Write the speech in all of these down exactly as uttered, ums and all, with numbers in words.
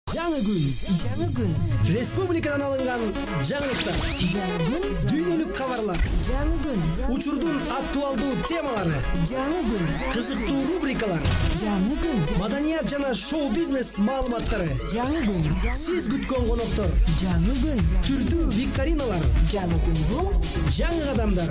Жаңы күн. Жаңы күн. Республикадан алынган жаңылыктар. Жаңы күн. Дүйнөлүк кабарлар. Жаңы күн. Учурдун актуалдуу темалары. Жаңы күн. Кызыктуу рубрикалар. Жаңы күн. Маданият жана шоу-бизнес маалыматтары. Жаңы күн. Сиз күткөн коноктор. Жаңы күн. Түрдүү викториналар. Жаңы күн бул Жаңы адамдар.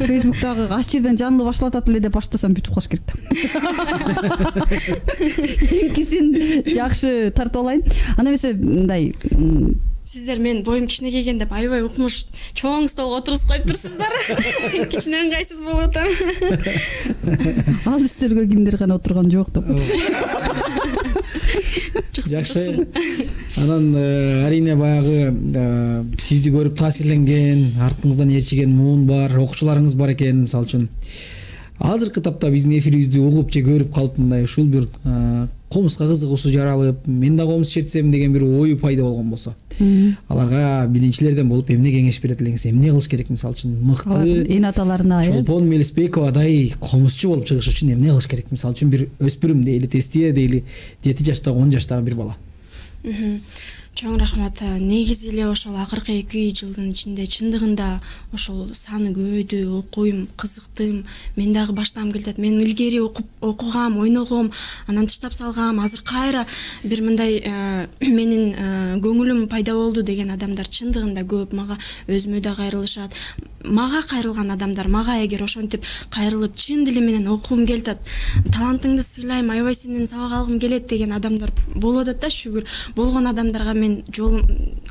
Фейсбуктагы аш жерден жанлуу башталат эле деп баштасам бүтүп калыш керек да. Эңкисин жакшы тартып алайын. Анда эмесе мындай сиздер мен боюм кичине келген деп аябай укмуш чоң столго отургузуп коюп турсуздар. Кичине ыңгайсыз болуп атам. Ал үстөлгө кимдир гана отурган жок деп. Жакшы. Анан арине баягы сизди көрүп таасирленген, артыңыздан ээрчиген муун бар, окуучуларыңыз бар экен, мисалы үчүн. Азыркы тапта биздин эфирибизди угуп же көрүп калып мындай ушул бир комуска кызыгуусу жаралып, мен да комус чертсем деген бир ою пайда болгон болсо. Аларга биринчилерден болуп эмне кеңеш берет элеңиз? Эмне кылыш керек мисалы үчүн? Мыкты эне аталарына, Чолпон Мелисбековадай комузчу болуп чыгыш үчүн эмне кылыш керек? Мисалы үчүн бир өспүрүм дейли, тестие дейли, жети жаштагы, он жаштагы бир бала. Чоң рахмат. Негизи эле ошол акыркы эки жылдын ичинде чындыгында ошол саны көбөйдү, окуйм, кызыктым. Мен дагы баштагым келет. Мен илгери окуп, окугам, ойногом, анан таштап салгам. Азыр кайра бир мындай менин көңүлүм пайда болду деген адамдар чындыгында көп. Мага өзүмө да кайрылышат. Мага кайрылган адамдар, мага эгер ошентип кайрылып чын дили менен окугум келет, талантыңды сыйлайм, аябай сенден сабак алгым келет деген адамдар болуп атат да, шүгүр. Болгон адамдарга мен жолум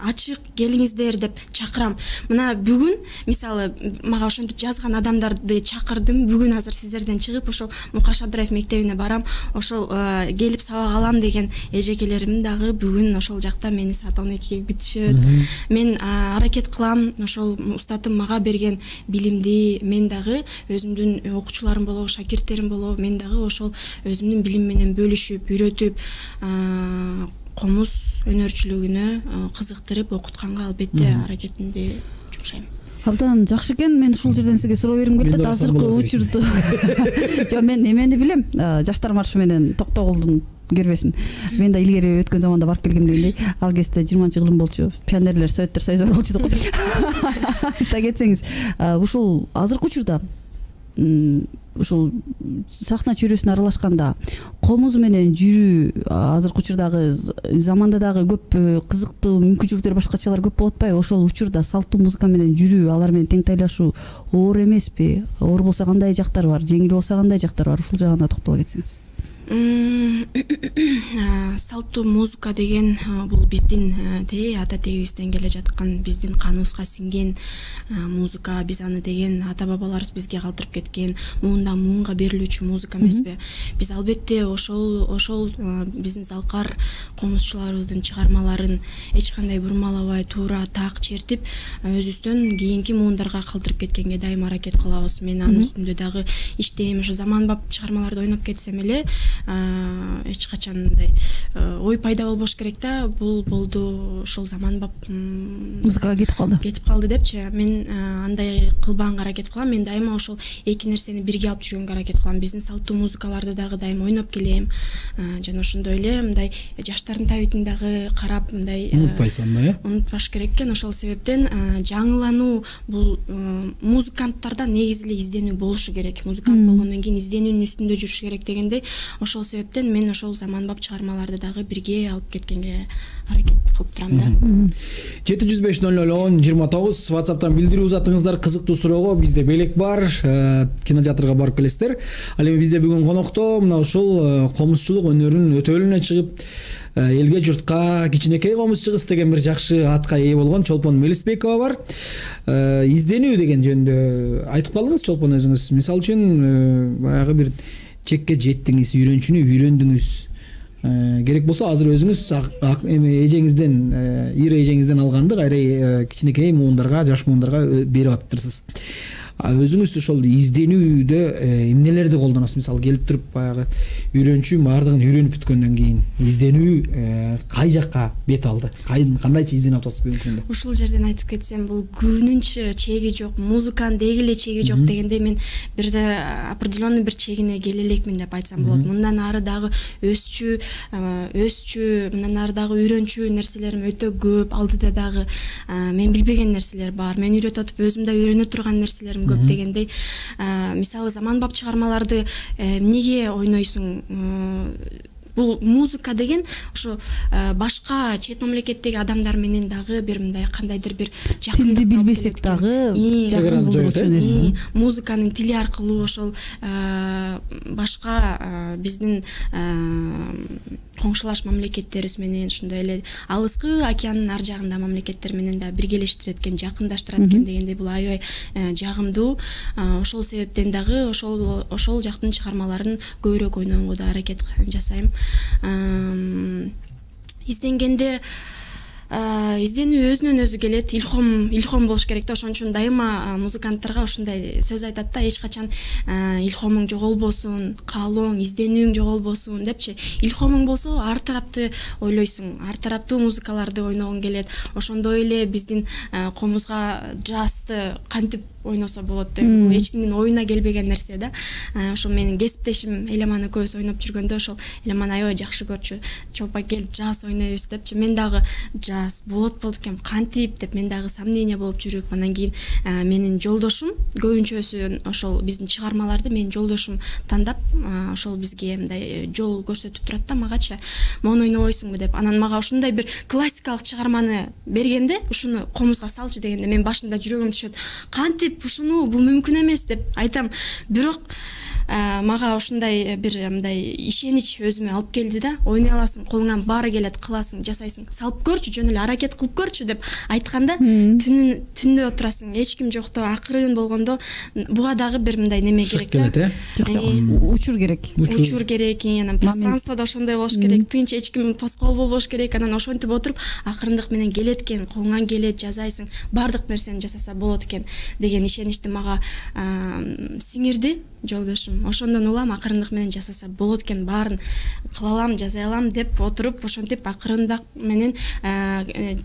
ачык, келиңиздер деп чакырам. Мына бүгүн мисалы мага ошентип жазган адамдарды чакырдым. Бүгүн азыр сиздерден чыгып ошол Мукаш Абдраев мектебине барам. Ошол келип сабак алам деген эжекелерим дагы бүгүн ошол жакта мени саат он экиге күтүшөт. Мен аракет кылам ошол устатым мага берген билимди мен дагы өзүмдүн окуучуларым болобу, шакирттерим болобу, мен дагы ошол өзүмдүн билим менен бөлүшүп, үйрөтүп, комуз өнөрчүлүгүнө кызыктырып окутканга албетте аракетимди жумшайм. Абдан жакшы экен. Мен ушул жерден сизге суроо бергим келет. Азыркы учурду жок, мен эмени билем. Жаштар маршы менен Токтогулдун кирбесин. Мен да илгери өткөн заманда барып келгем дегендей, ал кезде жыйырманчы жылым болчу. Пионерлер, советтер союзу болчу деп. Айта кетсеңиз, ушул азыркы учурда ушул сахна чөйрөсүнө аралашканда комуз менен жүрүү азыркы учурдагы заманда дагы көп кызыктуу мүмкүнчүлүктөр, башкачалар көп болуп атпайбы? Ошол учурда салттуу музыка менен жүрүү, алар менен теңтайлашуу оор эмеспи? Оор болсо кандай жактары бар, жеңил болсо кандай жактары бар? Ушул жагына токтоло кетсеңиз. Салттуу музыка деген бул биздин ата тегибизден келе жаткан, биздин каныбызга сиңген музыка. Биз аны деген ата бабаларыбыз бизге калтырып кеткен, муундан муунга берилүүчү музыка эмеспи? Биз албетте ошол ошол биздин залкар комузчуларыбыздын чыгармаларын эч кандай бурмалабай, туура так чертип, өзүбүздөн кийинки муундарга калтырып кеткенге дайым аракет кылабыз. Мен анын үстүндө дагы иштейм. Ошо заманбап чыгармаларды ойноп кетсем эле эч качан мындай ой пайда болбош керек да, бул болду, ошол заманбап музыкага кетип калды. Кетип калды депчи. Мен андай кылбаганга аракет кылам. Мен дайыма ошол эки нерсени бирге алып жүргөнгө аракет кылам. Биздин салттуу музыкаларды дагы дайыма ойноп келем. Жана ошондой эле мындай жаштардын табитин дагы карап, мындай унутпайсың да, э? Унутпаш керек экен. Ошол себептен жаңылануу бул музыканттарда негизи эле изденүү болушу керек. Музыкант болгондон кийин изденүүнүн үстүндө жүрүш керек дегендей. Ошол себептен мен ошол заманбап чыгармаларды дагы бирге алып кеткенге аракет кылып турам да. жети жүз беш ноль ноль он жыйырма тогуз WhatsApp'тан билдирүү узатыңыздар. Кызыктуу суроого бизде белек бар. Кинотеатрга барып келесиздер. Ал эми бизде бүгүн конокто мына ушул комузчулук өнөрүнүн өтөлүнө чыгып, элге журтка кичинекей комузчу кыз деген бир жакшы атка ээ болгон Чолпон Мелисбекова бар. Изденүү деген жөнүндө айтып калдыңыз Чолпон өзүңүз. Мисалы үчүн баягы бир чекке жеттиңиз, үйрөнчүнү үйрөндүңүз. Керек болсо азыр өзүңүз эми эжеңизден, ир эжеңизден алганды кайра кичинекей муундарга, жаш муундарга берип атыптырсыз. Өзүңүз ошол изденүүдө эмнелерди колдоносуз? Мисалы келип туруп баягы үйрөнчү баардыгын үйрөнүп бүткөндөн кийин изденүү кай жакка бет алды? Кандайча изденип атасыз бүгүнкү күндө? Ушул жерден айтып кетсем, бул күнүнчө чеги жок, музыканын деги эле чеги жок дегендей, мен бирде определенный бир чегине келе элекмин деп айтсам болот. Мындан ары дагы өсчү, өсчү, мындан ары дагы үйрөнчү нерселерим өтө көп. Алдыда дагы мен билбеген нерселер бар. Мен үйрөтүп атып өзүм да үйрөнө турган нерселерим көп дегендей. Мисалы заманбап чыгармаларды эмнеге ойнойсуң? Бул музыка деген ошо башка чет мамлекеттеги адамдар менен дагы бир мындай кандайдыр бир жакындык, тилди билбесек дагы жакын болчу нерсе. Музыканын тили аркылуу ошол башка биздин коңшулаш мамлекеттерибиз менен, ошондой эле алыскы океандын ар жагында мамлекеттер менен да биргелештирет экен, жакындаштырат экен дегендей, бул аябай жагымдуу. Ошол себептен дагы ошол ошол жактын чыгармаларын көбүрөөк ойногонго да аракет жасайм. Изденгенде изденүү өзүнөн өзү келет, илхом илхом болуш керек да. Ошон үчүн дайыма музыканттарга ушундай сөз айтат да, эч качан илхомуң жоголбосун, каалооң, изденүүң жоголбосун депчи. Илхомуң болсо ар тарапты ойлойсуң, ар тараптуу музыкаларды ойногуң келет. Ошондой эле биздин комузга джазды кантип ойносо болот деп, бул эч кимдин оюна келбеген нерсе да. Ошол менин кесиптешим Эламан экөөбүз ойноп жүргөндө ошол Эламан аябай жакшы көрчү. Чолпон кел джаз ойнойбуз депчи. Мен дагы джаз болот болот экен, кантип деп мен дагы сомнение болуп жүрүп, анан кийин менин жолдошум, көбүнчөсү ошол биздин чыгармаларды менин жолдошум тандап, ошол бизге мындай жол көрсөтүп турат да магачы. Мону ойнобойсуңбу деп. Анан мага ушундай бир классикалык чыгарманы бергенде, ушуну комузга салчы дегенде, мен башында жүрөгүм түшөт. Кантип ушуну, бул мүмкүн эмес деп айтам. Бирок мага ушундай бир мындай ишенич өзүмө алып келди да. Ойной аласың, колуңан баары келет, кыласың, жасайсың. Салып көрчү, жөн эле аракет кылып көрчү деп айтканда, түнүн түндө отурасың, эч ким жокто, акырын болгондо буга дагы бир мындай неме керек да. Учур керек. Учур керек, анан пространстводо ошондой болуш керек. Тынч, эч ким тоскоол болбош керек. Анан ошентип отуруп, акырындык менен келет экен, колуңан келет, жасайсың. Бардык нерсени жасаса болот экен деген ишеничти мага сиңирди жолдошум. элем. Ошондон улам акырындык менен жасаса болот экен, баарын кыла алам, жаза алам деп отуруп, ошентип акырындык менен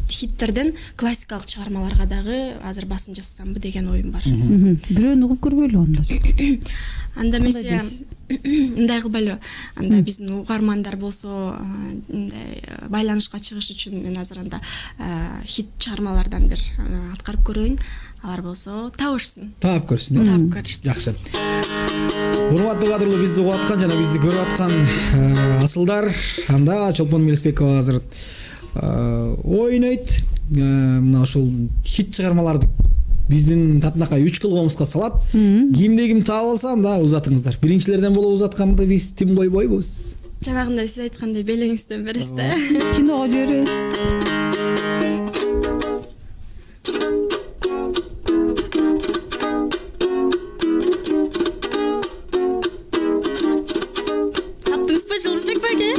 хиттерден классикалык чыгармаларга дагы азыр басым жасасамбы деген оюм бар. Бирөөнү угуп көрбөйлү анда. Анда мисия мындай кылбайлы. Анда биздин угармандар болсо мындай байланышка чыгыш үчүн мен азыр анда хит чыгармалардан бир аткарып көрөйүн. Алар болсо табышсын. Таап көрсүн. Таап көрсүн. Жакшы. Урматтуу кадырлуу, бизди угуп аткан жана бизди көрүп аткан асылдар, анда Чолпон Мелисбекова азыр ойнойт. Мына ошол хит чыгармаларды биздин татынакай үч кылгыбызга салат. Кимде ким таап алса анда узатыңыздар. Биринчилерден болуп узатканды биз тим койбойбуз. Жанагындай сиз айткандай белеңизден бересиз да. Киного жиберебиз. Таптыңызбы Жылдызбек байке?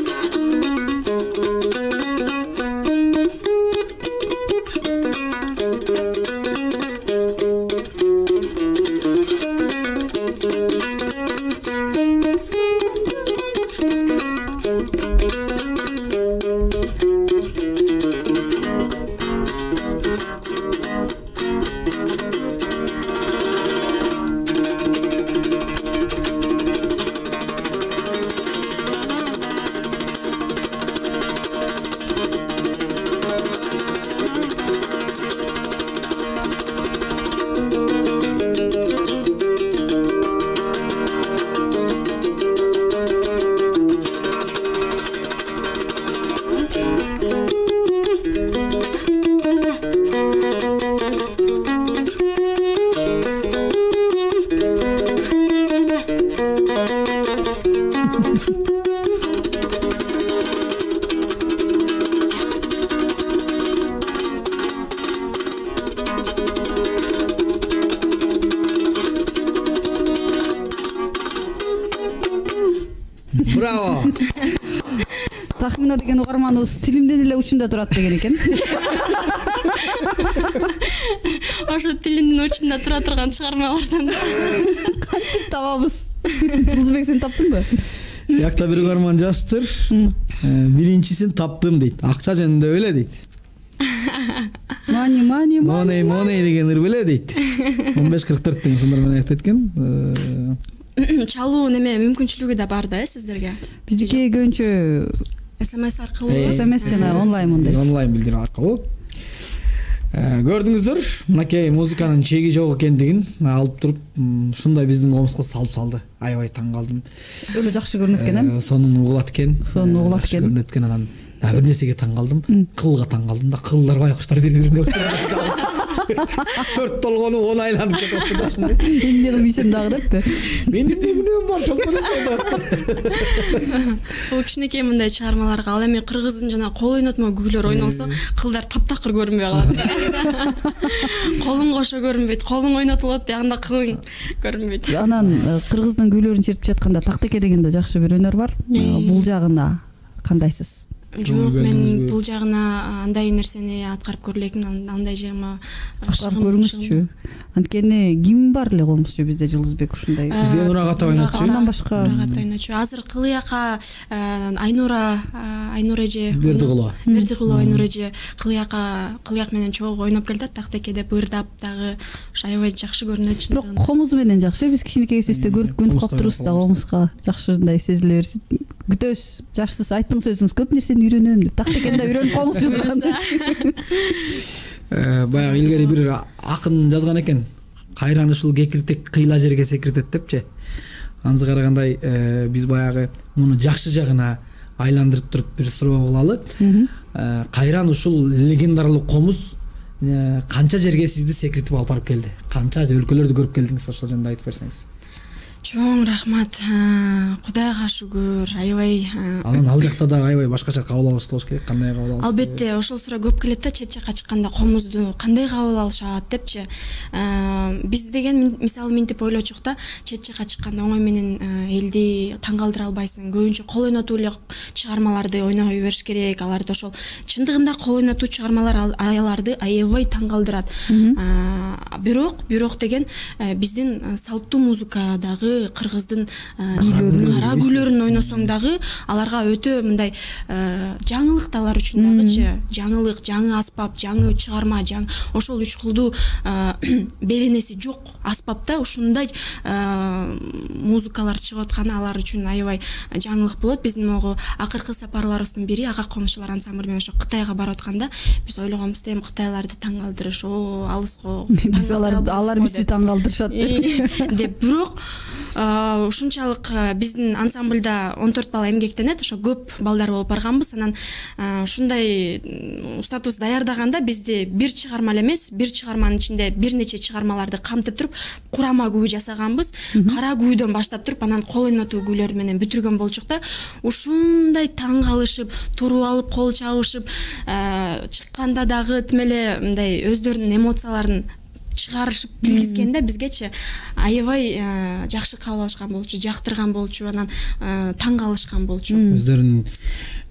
Браво. Тахмина деген угарманыбыз тилимден эле учунда турат деген экен. Ошо тилиндин учунда тура турган чыгармалардан Кантип табабыз? Жылдызбек, сен таптыңбы? Якта бир угарман жазыптыр. Биринчисин таптым дейт. Акча жөнүндө беле дейт. Мани мани Моней моней деген ыр беле дейт. он беш кырк төрт деген сондар менен айтып кеткен. чалуу неме мүмкүнчүлүгү да бар да сиздерге. Биздики көбүнчө СМС аркылуу. СМС жана онлайн мындай. Онлайн билдирүү аркылуу. Көрдүңүздөр, мынакей музыканын чеги жок экендигин алып туруп, ушундай биздин комузга салып салды. Аябай таң калдым. Өлө жакшы көрүнөт экен, э? Сонун угулат экен. Сонун угулат экен. Көрүнөт экен, анан бир нерсеге таң калдым. Кылга таң калдым да, кылдар байкуштар бири-бирине төрт толгону он айланып кетип атты. Эмне кылмыйсың дагы деппи? Мен эмне билем бар, чолпон. Бул кичинекей мындай чыгармаларга, ал эми кыргыздын жана кол ойнотмо күйлөр ойнолсо, кылдар таптакыр көрүнбөй калат. Колуң кошо көрүнбөйт, колуң ойнотулат, анда кылың көрүнбөйт. Анан кыргыздын күйлөрүн чертип жатканда Тактеке деген да жакшы бир өнөр бар. Бул жагына кандайсыз? Жок, мен бул жагына андай нерсени аткарып көрөлекмин, андай жагыма аткарып көрүңүзчү. Анткени ким бар эле комузчу бизде Жылдызбек ушундай. Бизде Нурагата ойнотчу. Андан башка Нурагата ойнотчу. Азыр Кылыяка Айнура, Айнура эже, Бердикулова. Бердикулова Айнура эже Кылыяка, Кылыяк менен чогуу ойноп келди, Тактеке деп ырдап дагы аябай жакшы көрүнөт чындыгында. Бирок комузу менен жакшы, биз кичинекей кезибизде көрүп көнүп калып турубуз да, комузга жакшындай сезиле берет. Күтөбүз. Жакшысы айттың сөзүңүз көп нерсени үйрөнөм деп. Тактекен да үйрөнүп комуз жазган. Баягы илгери бир акын жазган экен. Кайран ушул кекиртек кыйла жерге секиртет депчи. Анысы карагандай биз баягы муну жакшы жагына айландырып туруп бир суроо кылалы. Кайран ушул легендаралуу комуз канча жерге сизди секиртип алып барып келди? Канча өлкөлөрдү көрүп келдиңиз? Ошол жөнүндө айтып берсеңиз. Чоң рахмат. Кудайга шүгүр. Аябай. Анан ал жакта да аябай башкача кабыл алышты болуш керек. Кандай кабыл алышты? Албетте, ошол суроо көп келет да, чет жакка чыкканда комузду кандай кабыл алышат депчи. Биз деген мисалы мынтип ойлочук да, чет жакка чыкканда оңой менен элди таң калтыра албайсың. Көбүнчө кол ойнотуу эле чыгармаларды ойной бериш керек. Аларды ошол чындыгында кол ойнотуу чыгармалар аларды аябай таң калтырат. Бирок, бирок деген биздин салттуу музыкадагы дагы кыргыздын кара күйлөрүн ойносоң дагы аларга өтө мындай жаңылык да алар үчүн дагычы жаңылык, жаңы аспап, жаңы чыгарма, жаңы ошол үч кылдуу беренеси жок аспапта ушундай музыкалар чыгып атканы алар үчүн аябай жаңылык болот. Биздин могу акыркы сапарларыбыздын бири ага комушчулар ансамбль менен ошо Кытайга барып атканда биз ойлогонбуз эми кытайларды таң калтырыш, о алыска биз алар алар бизди таң калтырышат деп. Бирок ушунчалык биздин ансамбльда он төрт бала эмгектенет, ошо көп балдар болуп барганбыз. Анан ушундай статус даярдаганда бизди бир чыгарма эле эмес, бир чыгарманын ичинде бир нече чыгармаларды камтып туруп курама күү жасаганбыз. Кара күүдөн баштап туруп анан кол ойнотуу күүлөр менен бүтүргөн болчук да. Ушундай таң калышып, туруп алып кол чабышып чыкканда дагы тим эле мындай өздөрүнүн эмоцияларын чыгарышып билгизгенде бизгечи аябай жакшы кабыл алышкан болчу, жактырган болчу, анан таң калышкан болчу. Өздөрүнүн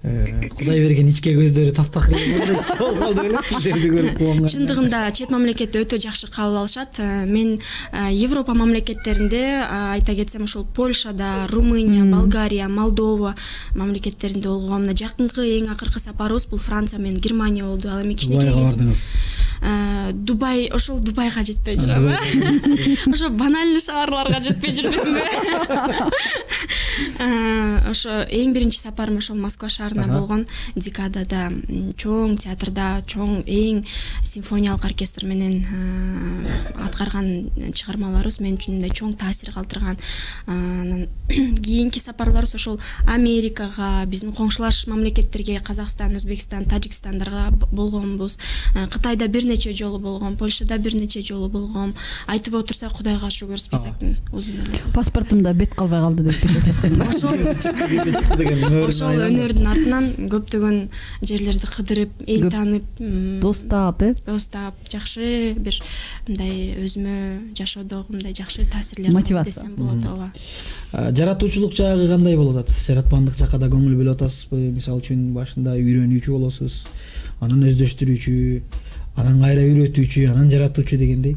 Кудай берген ичке көздөрү таптак болуп калды беле, сиздерди көрүп кубанган. Чындыгында чет мамлекетте өтө жакшы кабыл алышат. Мен Европа мамлекеттеринде айта кетсем ошол Польшада, Румыния, Болгария, Молдова мамлекеттеринде болгом. Мына жакынкы эң акыркы сапарыбыз бул Франция менен Германия болду. Ал эми кичинекей бардыңыз. Дубай, ошол Дубайга жетпей жүрөм. Ошо банальный шаарларга жетпей жүрбөймүнбү? Ошо эң биринчи сапарым ошол Москва шаарына болгон. Декадада чоң театрда, чоң эң симфониялык оркестр менен аткарган чыгармаларыбыз мен үчүн мындай чоң таасир калтырган. Анан кийинки сапарларыбыз ошол Америкага, биздин коңшулаш мамлекеттерге, Казакстан, Өзбекстан, Тажикстандарга болгонбуз. Кытайда бир нече жолу болгом, Польшада бир нече жолу болгом. Айтып отурсак Кудайга шүгүр, списоктун узун эле. Паспортумда бет калбай калды деп кетесиң. Ошол өнөрдүн артынан көптөгөн жерлерди кыдырып, эл таанып, достап, э? Достап, жакшы бир мындай өзүмө жашоодогу мындай жакшы таасирлер мотивация десем болот, ооба. Жаратуучулук жагы кандай болуп атат? Жаратмандык жакка да көңүл бөлүп атасызбы? Мисалы үчүн башында үйрөнүүчү болосуз, анан өздөштүрүүчү, анан кайра үйрөтүүчү, анан жаратуучу дегендей.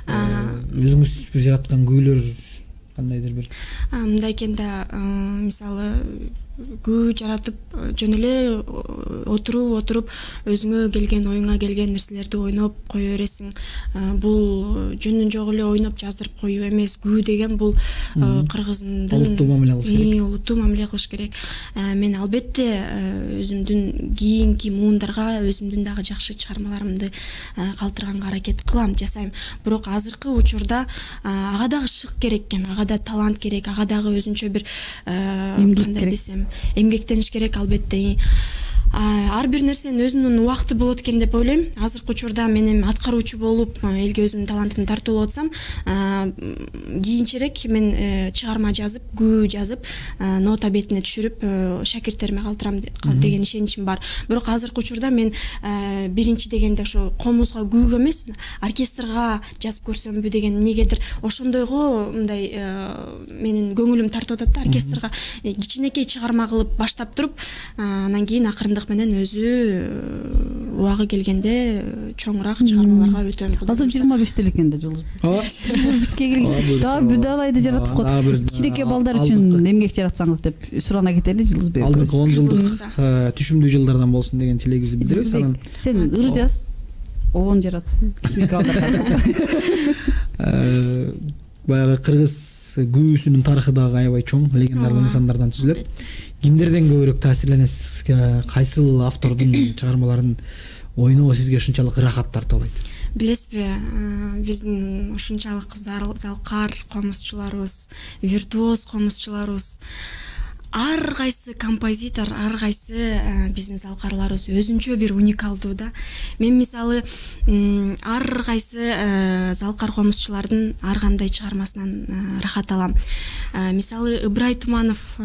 Өзүңүз бир жараткан күүлөр кандайдыр бир? Мындай экенде, мисалы күү жаратып жөн эле отуруп отуруп өзүңө келген, оюңа келген нерселерди ойноп кое бересиң. Бул жөнүн жок эле ойноп жаздырып коюу эмес. Күү деген бул кыргыздын олуттуу мамиле кылыш керек. Олуттуу мамиле кылыш керек. Мен албетте өзүмдүн кийинки муундарга өзүмдүн дагы жакшы чыгармаларымды калтырганга аракет кылам, жасайм. Бирок азыркы учурда ага дагы шык керек экен, ага да талант керек, ага дагы өзүнчө бир кандай десем эмгектениш керек албетте. Ар бир нерсенин өзүнүн убакыты болот экен деп ойлойм. Азыркы учурда мен эми аткаруучу болуп, элге өзүмдүн талантымды тартуулап атсам, кийинчерээк мен чыгарма жазып, күү жазып, нота бетине түшүрүп, шакирттериме калтырам деген ишеничим бар. Бирок азыркы учурда мен биринчи дегенде ошо комузга, күүгө эмес, оркестрга жазып көрсөмбү деген негедир ошондойго мындай менин көңүлүм тартып атат да. Оркестрга кичинекей чыгарма кылып баштап туруп, анан кийин акырындык менен өзү убагы келгенде чоңураак чыгармаларга өтөм. Азыр жыйырма беште экен да Жылдыз. Бизге келгичи да бүдалайды жаратып коет. Кичинекей балдар үчүн эмгек жаратсаңыз деп сурана кетели Жылдызбек. Алдыңкы он жылдык түшүмдүү жылдардан болсун деген тилегибизди билдиребиз. Анан сен ыр жаз, обон жаратсын. Кичинекей балдарга. Баягы кыргыз күүсүнүн тарыхы дагы аябай чоң, легендардуу инсандардан түзүлөт. Кимдерден көбүрөөк таасирленесиз? Кайсыл автордун чыгармаларын ойноо сизге ушунчалык ырахат тартуулайт? Билесизби, биздин ушунчалык залкар комузчуларыбыз, виртуоз комузчуларыбыз, ар кайсы композитор, ар кайсы биздин залкарларыбыз өзүнчө бир уникалдуу да. Мен мисалы ар кайсы залкар комузчулардын ар кандай чыгармасынан рахат алам. Мисалы Ыбырай Туманов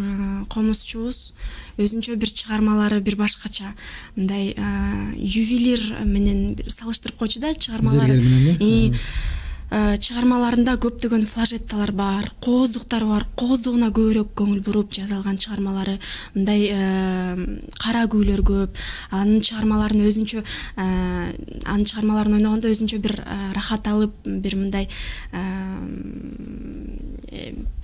комузчубуз өзүнчө бир чыгармалары бир башкача, мындай ювелир менен салыштырып койчу да чыгармалары. чыгармаларында көптөгөн флажетталар бар, кооздуктар бар. Кооздугуна көбүрөөк көңүл буруп жазалган чыгармалары, мындай кара күүлөр көп. Анын чыгармаларын өзүнчө анын чыгармаларын ойногондо өзүнчө бир рахат алып, бир мындай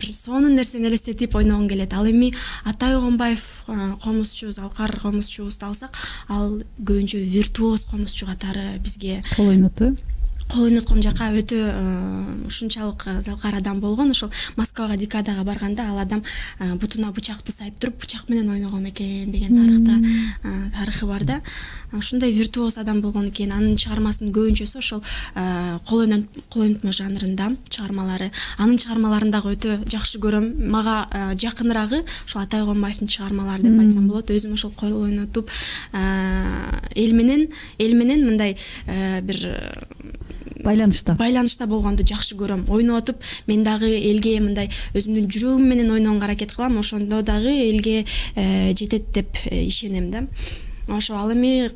бир сонун нерсени элестетип ойногон келет. Ал эми Атай Огонбаев комузчу, Залкар комузчубузду алсак, ал көбүнчө виртуоз комузчу катары бизге кол ойноту кол ойноткон жака өтө ушунчалык залкар адам болгон. Ошол Москвага декадага барганда ал адам бутуна бычакты сайып туруп бычак менен ойногон экен деген тарыхта тарыхы бар да. Ушундай виртуоз адам болгон экен. Анын чыгармасынын көбүнчөсү ошол кол ойнотмо жанрында чыгармалары. Анын чыгармаларын дагы өтө жакшы көрөм. Мага жакынырагы ошол Атай Огонбаевдин чыгармалары деп айтсам болот. Өзүм ошол кол ойнотуп эл менен эл менен мындай бир байланышта байланышта болгонду жакшы көрөм. Ойнотуп мен дагы элге мындай өзүмдүн жүрөгүм менен ойногонго аракет кылам. Ошондо дагы элге жетет деп ишенем да. Ошо ал эми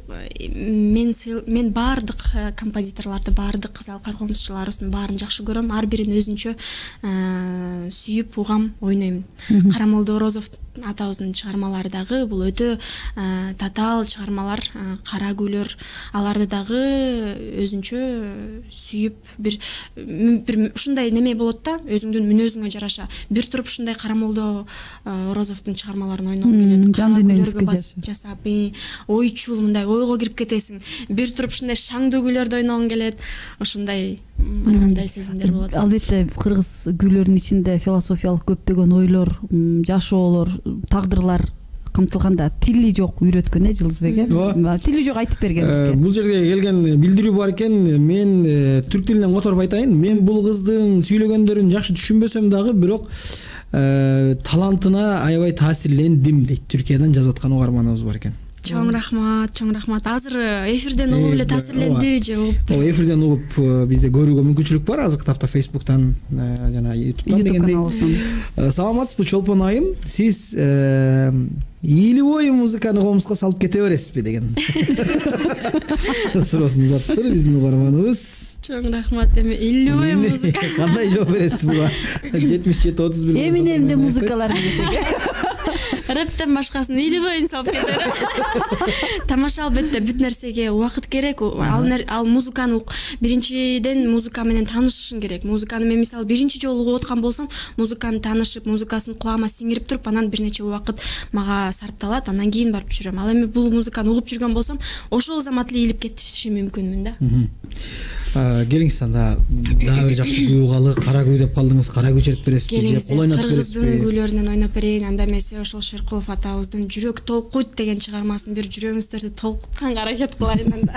мен мен баардык композиторлорду, баардык Залкар комузчуларыбыздын баарын жакшы көрөм. Ар бирин өзүнчө сүйүп, угам, ойнойм. Карамолдо Орозов атабыздын чыгармалары дагы бул өтө татаал чыгармалар, кара күйлөр. Аларды дагы өзүнчө сүйүп, бир бир ушундай неме болот да, өзүңдүн мүнөзүңө жараша. Бир туруп ушундай Карамолдо Орозовдун чыгармаларын ойногом келет. Жан дүйнөңүзгө жасап, ойчул мындай ойго кирип кетесиң. Бир туруп ушундай шаңдуу күйлөрдү ойногон келет. Ошондой баргандай сезимдер болот. Албетте кыргыз күйлөрүнүн ичинде философиялык көптөгөн ойлор, жашоолор, тагдырлар камтылганда тили жок үйрөткөн э Жылдызбек э. Тили жок айтып берген бизге. Бул жерге келген билдирүү бар экен. Мен түрк тилинен которуп айтайын. Мен бул кыздын сүйлөгөндөрүн жакшы түшүнбөсөм дагы, бирок талантына аябай таасирлендим дейт. Түркиядан жазып аткан угарманыбыз бар экен. Чоң рахмат, чоң рахмат. Азыр эфирден угуп эле таасирленди же угуп? О, эфирден угуп бизде көрүүгө мүмкүнчүлүк бар. Азыркы тапта Facebook'тан жана YouTube'дан дегендей. Саламатсызбы Чолпон айым? Сиз ийли бою музыканы комузга салып кете бересизби деген суроосун узаттыр биздин угарманыбыз. Чоң рахмат. Эми ийли бою музыка кандай жооп бересиз буга? жетимиш жети отуз бир Эминемде музыкалар десек. Рэптен башкасын ийли бойун салып кетер. Тамаша, албетте бүт нерсеге убакыт керек. Ал ал музыканы биринчиден музыка менен таанышышың керек. Музыканы мен мисалы биринчи жолу угуп аткан болсом, музыканы таанышып, музыкасын кулагыма сиңирип туруп, анан бир нече убакыт мага сарпталат, андан кийин барып жүрөм. Ал эми бул музыканы угуп жүргөн болсом, ошол замат эле ийилип кетишим мүмкүнмүн да. Келиңиз анда дагы бир жакшы күү угалы. Кара күү деп калдыңыз. Кара күү чертип бересизби же кол ойнотуп бересизби? Кыргыздын күүлөрүнөн ойноп берейин. Анда эмесе ошол Шеркулов атабыздын Жүрөк толкуйт деген чыгармасын бир жүрөгүңүздөрдү толкутканга аракет кылайын анда.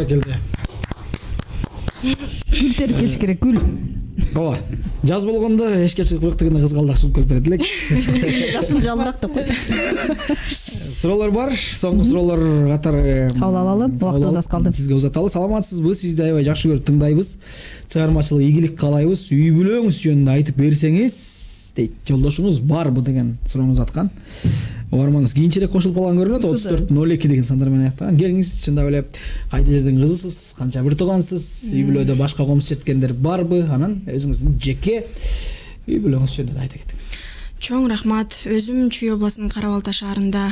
баракелде. Гүл терип келиш керек, гүл. Ооба. Жаз болгондо эшикке чыгып ырыктыгында кызгалдак чыгып келип берет элек. Жашыл жалбырак деп кой. Суроолор бар. Соңку суроолор катары кабыл алалы. Убактыбыз аз калды. Сизге узаталы. Саламатсызбы? Сизди аябай жакшы көрүп тыңдайбыз. Чыгармачылык ийгилик каалайбыз. Үй бүлөңүз жөнүндө айтып берсеңиз, дейт. Жолдошуңуз барбы деген суроону узаткан. Угарманыбыз кийинчерээк кошулуп калган көрүнөт. отуз төрт ноль эки деген сандар менен аяктаган. Келиңиз, чындап эле кайда жердин кызысыз, канча бир туугансыз, үй бүлөдө башка комуз четкендер барбы? Анан өзүңүздүн жеке үй бүлөңүз жөнүндө айта кетиңиз. Чоң рахмат. Өзүм Чүй областынын Кара Балта шаарында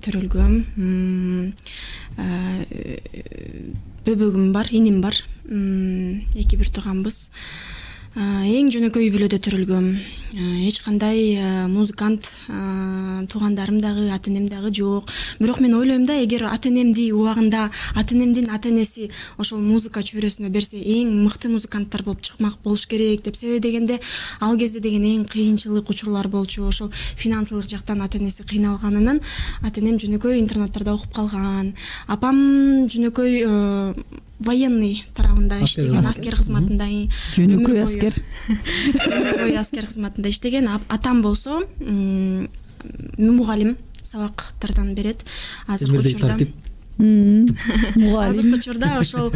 төрөлгөм. Бөбөгүм бар, иним бар. Эки бир тууганбыз. Эң жөнөкөй үй бүлөдө төрөлгөм. Эч кандай музыкант туугандарым дагы, ата энем дагы жок. Бирок мен ойлойм да, эгер ата энемди убагында, ата энемдин ата энеси ошол музыка чөйрөсүнө берсе, эң мыкты музыканттар болуп чыкмак болуш керек деп. Себеби дегенде, ал кезде деген эң кыйынчылык учурлар болчу. Ошол финансылык жактан ата энеси кыйналганынан ата энем жөнөкөй интернаттарда окуп калган. Апам жөнөкөй военный тарабында иштеген, аскер кызматында. Жөнөкөй аскер. Жөнөкөй аскер кызматында иштеген. Атам болсо мугалим, сабактардан берет. Азыркы учурда Азыркы учурда ошол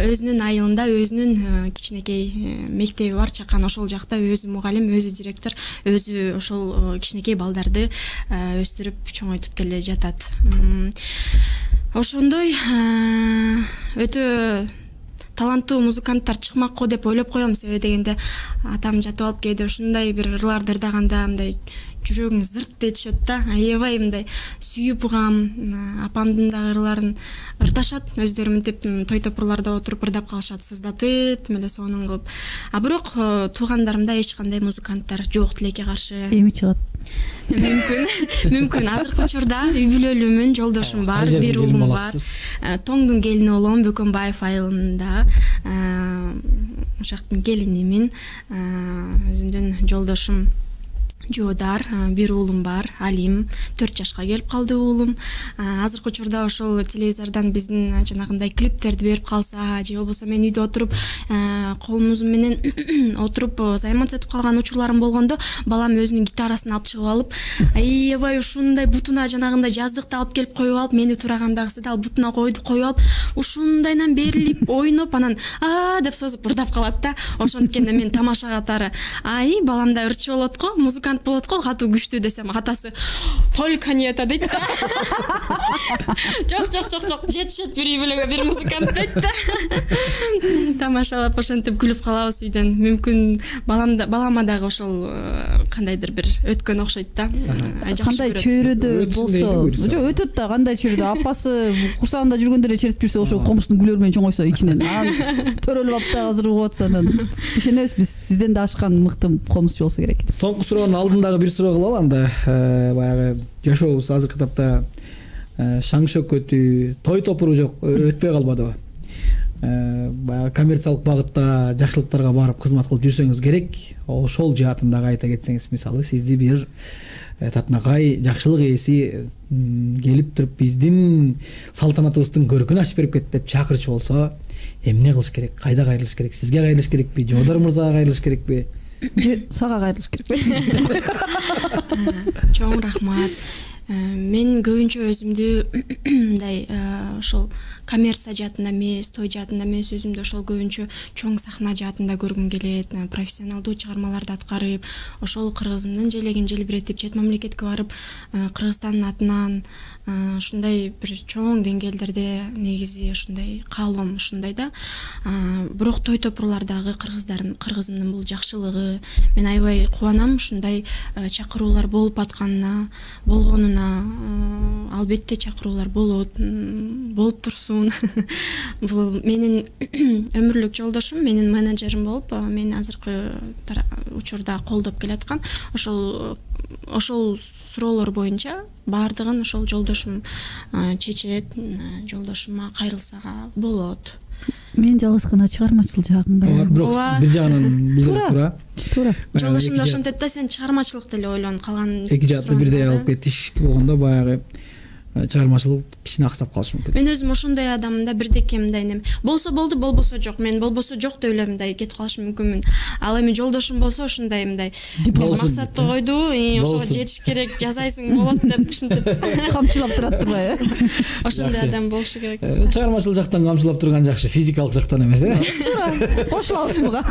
өзүнүн айылында өзүнүн кичинекей мектеби бар, чакан. Ошол жакта өзү мугалим, өзү директор, өзү ошол кичинекей балдарды өстүрүп чоңойтуп келе жатат. Ошондой өтө таланттуу музыканттар чыкмак го деп ойлоп коем. Себеби дегенде атам жатып алып кээде ушундай бир ырларды ырдаганда мындай жүрөгүң зырт дей түшөт да. Аябай мындай сүйүп угам. Апамдын дагы ырларын ырдашат. Өздөрү мынтип той топурларда отуруп ырдап калышат, сыздатып, эле сонун кылып. А бирок туугандарымда эч кандай музыканттар жок, тилекке каршы. Эми чыгат. Мүмкүн, мүмкүн. Азыркы учурда үй бүлөлүүмүн, жолдошум бар, бир уулум бар. Тоңдун келини болом, Бөкөнбаев айылында. Ошактын келинимин. Өзүмдүн жолдошум Жоодар, бир уулум бар, Алим, төрт жашка келип калды уулум. Азыркы учурда ошол телевизордон биздин жанагындай клиптерди берип калса, же болбосо мен үйдө отуруп, колумуз менен отуруп займанат этип калган учурларым болгондо, балам өзүнүн гитарасын алып чыгып алып, аябай ушундай бутуна жанагындай жаздыкты алып келип коюп алып, мени турагандагысы да ал бутуна койду, коюп алып, ушундайдан берилип, ойноп, анан а деп созуп ырдап калат да. Ошонткенде мен тамаша катары, ай, баламда ырчы болот го, музыкант болот го, катуу күчтүү десем, атасы только не это дейт да. Жок, жок, жок, жок, жетишет бир үй бүлөгө бир музыкант дейт да. Тамашалап ошентип күлүп калабыз үйдөн. Мүмкүн баламда балама дагы ошол кандайдыр бир өткөн окшойт да. Кандай чөйрөдө болсо, жок өтөт да, кандай чөйрөдө апасы курсагында жүргөндө эле чертип жүрсө, ошол комуштун гүлөр менен чоңойсо ичинен, анан төрөлүп алып да азыр угуп атса, анан ишенебиз биз сизден да ашкан мыкты комузчу болсо керек. Соңку суроонун алдындагы бир суроо кылалы, анда баягы жашообуз азыркы тапта шаң шөкөтү, той топуру жок, өтпөй калбадыбы? Баягы коммерциялык багытта жакшылыктарга барып кызмат кылып жүрсөңүз керек. Ошол жаатын дагы айта кетсеңиз, мисалы сизди бир татынакай жакшылык ээси келип туруп биздин салтанатыбыздын көркүн ачып берип кет деп чакырчу болсо, эмне кылыш керек? Кайда кайрылыш керек? Сизге кайрылыш керекпи? Жоодар мырзага кайрылыш керекпи? Же сага кайрылыш керекпи? Чоң рахмат. Мен көбүнчө өзүмдү мындай ошол коммерция жаатында эмес, той жаатында эмес, өзүмдү ошол көбүнчө чоң сахна жаатында көргүм келет. Профессионалдуу чыгармаларды аткарып, ошол кыргызымдын желегин желбиретип, чет мамлекетке барып, Кыргызстандын атынан ушундай бир чоң деңгээлдерде негизи ушундай каалоом ушундай да. Бирок той топурлардагы кыргыздарым, кыргызымдын бул жакшылыгы, мен аябай кубанам ушундай чакыруулар болуп атканына, болгонуна. Албетте чакыруулар болот, болуп турсун. Бул менин өмүрлүк жолдошум, менин менеджерим болуп, мен азыркы учурда колдоп келаткан. Ошол ошол суроолор боюнча баардыгын ошол жолдошум чечет, жолдошума кайрылса болот. Мен жалгыз гана чыгармачыл жагында. Бирок бир жагынан бир туура. Туура. Жолдошум да ошентет да, сен чыгармачылыкты эле ойлон, калган эки жаатта бирдей алып кетиш болгондо баягы чыгармачылык кичине аксап калышы мүмкүн. Мен өзүм ошондой адаммын да, бирдеке мындай эме болсо болду, болбосо жок. Мен болбосо жок деп эле мындай кетип калышым мүмкүнмүн. Ал эми жолдошум болсо ошондой мындай максатты койду, ошого жетиш керек, жасайсың болот деп ушинтип камчылап турат турбайбы? Ошондой адам болушу керек. Чыгармачылык жактан камчылап турган жакшы, физикалык жактан эмес, э? Туура. Кошулабыз буга.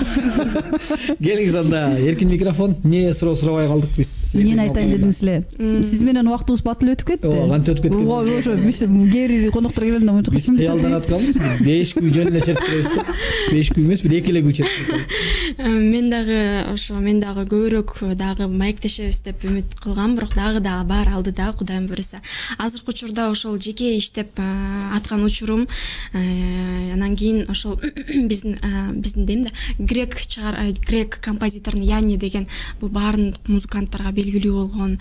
Келиңиз анда, эркин микрофон. Эмне суроо сурабай калдык биз? Эмнени айтайын дедиңиз эле? Сиз менен убактыбыз батыл өтүп кетти. Ооба, кантип өтүп кетти? Ооба, ошо биз кээ коноктор келгенде монтип Биз кыялданып атканбыз. беш күн жөн эле чертпейбиз да. беш күн эмес, бир эки эле күн чертпейбиз. Мен дагы ошо мен дагы көбүрөөк дагы маектешебиз деп үмүт кылгам, бирок дагы дагы бар алдыда, Кудайым буйруса. Азыркы учурда ошол жеке иштеп аткан учурум, анан кийин ошол биздин биздин дейм да, грек чыгар грек композиторун Янни деген бул баардык музыканттарга белгилүү болгон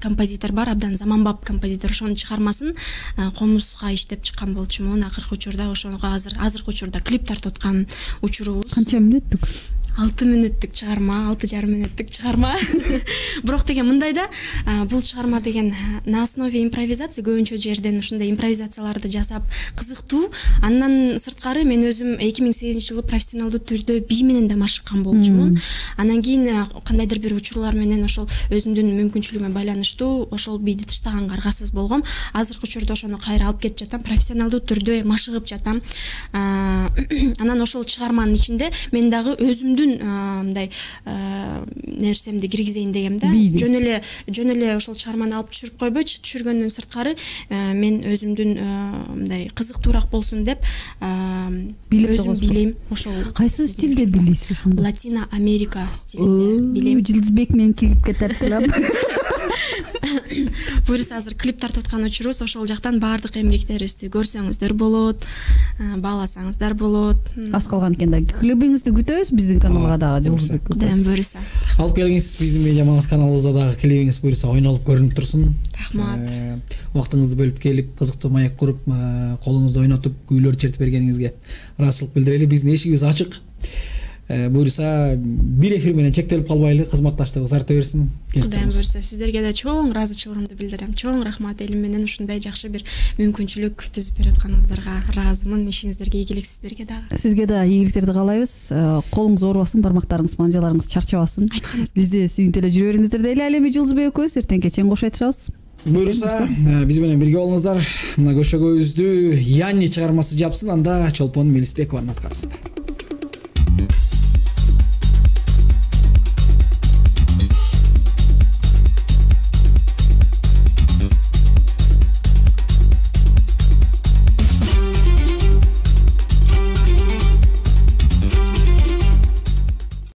композитор бар, абдан заманбап композитор. Ошонун чыгармасын комузга иштеп чыккан болчумун. Акыркы учурда ошого азыр азыркы учурда клип тартып аткан учурубуз. Канча мүнөттүк? алты мүнөттүк чыгарма, алты жарым мүнөттүк чыгарма. Бирок деген мындай да, бул чыгарма деген на основе импровизация, көбүнчө жерден ушундай импровизацияларды жасап кызыктуу. Андан сырткары мен өзүм эки миң сегизинчи жылы профессионалдуу түрдө бий менен да машыккан болчумун. Анан кийин кандайдыр бир учурлар менен ошол өзүмдүн мүмкүнчүлүгүмө байланыштуу ошол бийди таштаганга аргасыз болгом. Азыркы учурда ошону кайра алып кетип жатам, профессионалдуу түрдө машыгып жатам. Анан ошол чыгарманын ичинде мен дагы өзүмдүн мындай нерсемди киргизейин дегем да. Жөн эле жөн эле ошол чыгарманы алып түшүрүп койбойчу, түшүргөндөн сырткары мен өзүмдүн мындай кызыктуураак болсун деп өзүм билейм. Ошол кайсы стилде билесиз ошондо? Латино Америка стилинде билейм. Жылдызбек менен клипке тартылам. Буюрса азыр клип тартып аткан учурубуз, ошол жактан баардык эмгектерибизди көрсөңүздөр болот, бааласаңыздар болот. Аз калган экен да. Клибиңизди күтөбүз биздин каналга дагы, Жылдызбек. Кудайым буйруса. Алып келиңиз биздин Медиа Манас каналыбызда дагы клибиңиз буюрса ойнолуп көрүнүп турсун. Рахмат. Убактыңызды бөлүп келип, кызыктуу маек куруп, колуңузду ойнотуп, күүлөр чертип бергениңизге ыраазычылык билдирели. Биздин эшигибиз ачык. Буюрса бир эфир менен чектелип калбайлы, кызматташтыгыбыз арта берсин. Кудайым буйруса, сиздерге да чоң ыраазычылыгымды билдирем. Чоң рахмат, элим менен ушундай жакшы бир мүмкүнчүлүк түзүп берип атканыңыздарга ыраазымын. Ишиңиздерге ийгилик, сиздерге дагы. Сизге да ийгиликтерди каалайбыз. Колуңуз оорубасын, бармактарыңыз, манжаларыңыз чарчабасын. Бизди сүйүнтүп эле жүрө бериңиздер дейли. Ал эми Жылдызбек экөөбүз эртеңке чейин кош айтышабыз. Буюрса, биз менен бирге болуңуздар. Мына көшөгөбүздү Янни чыгармасы жапсын, анда Чолпон Мелисбекованын аткарысында.